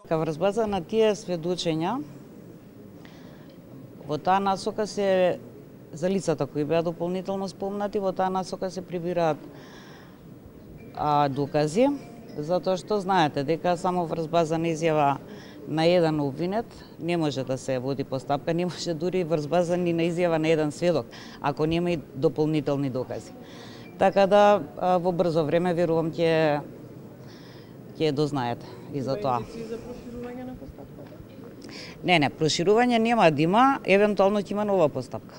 Врз база на тие сведочења, во таа насока се за лицата кои беа дополнително спомнати, во таа насока се прибираат докази, затоа што знаете дека само врз база на изјава на еден обвинет не може да се води постапка, не може дури врз база ни на изјава на еден сведок, ако нема и дополнителни докази. Така да во брзо време верувам ќе дознаете и за тоа. За проширување на постапката? Не, проширување нема да има, евентуално ќе има нова постапка.